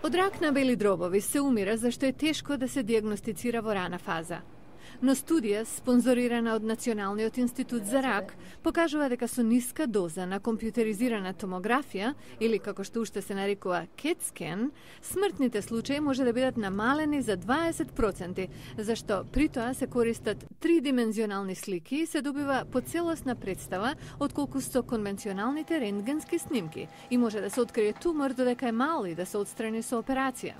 Од рак на бели дробови се умира зашто е тешко да се диагностицира во рана фаза. Но студија, спонзорирана од Националниот институт за рак, покажува дека со ниска доза на компјутеризирана томографија, или како што уште се нарекува CAT scan, смртните случаи може да бидат намалени за 20%, зашто при тоа се користат тридимензионални слики и се добива поцелосна представа отколку со конвенционалните рентгенски снимки и може да се открие тумор додека е мал и да се отстрани со операција.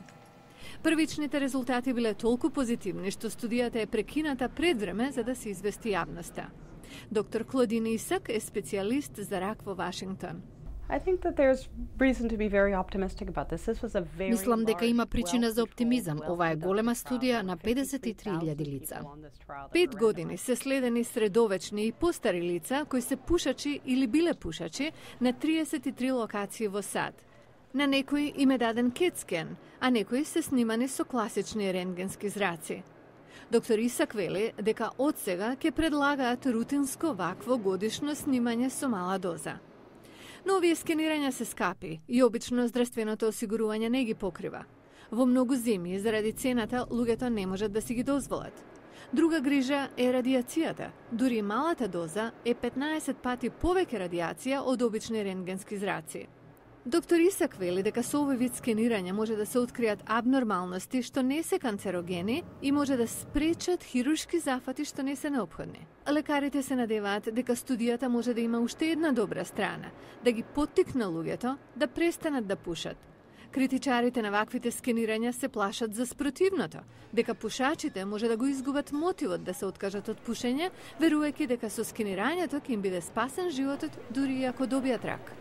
Првичните резултати биле толку позитивни што студијата е прекината пред време за да се извести јавноста. Доктор Клодин Исак е специјалист за рак во Вашингтон. Мислам дека има причина за оптимизам. Ова е голема студија на 53.000 лица. 5 години се следени средовечни и постари лица кои се пушачи или биле пушачи на 33 локации во САД. На некои им е даден CAT scan, а некои се снимани со класични рентгенски зраци. Доктор Исак вели дека од сега ќе предлагаат рутинско вакво годишно снимање со мала доза. Но овие скенирања се скапи и обично здравственото осигурување не ги покрива. Во многу земји заради цената луѓето не можат да си ги дозволат. Друга грижа е радиацијата. Дури малата доза е 15 пати повеќе радиација од обични рентгенски зраци. Доктор Исак вели дека со овој вид скенирање може да се откријат абнормалности што не се канцерогени и може да спречат хируршки зафати што не се неопходни. Лекарите се надеваат дека студијата може да има уште една добра страна, да ги поттикне луѓето да престанат да пушат. Критичарите на ваквите скенирања се плашат за спротивното, дека пушачите може да го изгубат мотивот да се откажат од пушење, верувајќи дека со скенирањето ќе им биде спасен животот дури и ако добијат рак.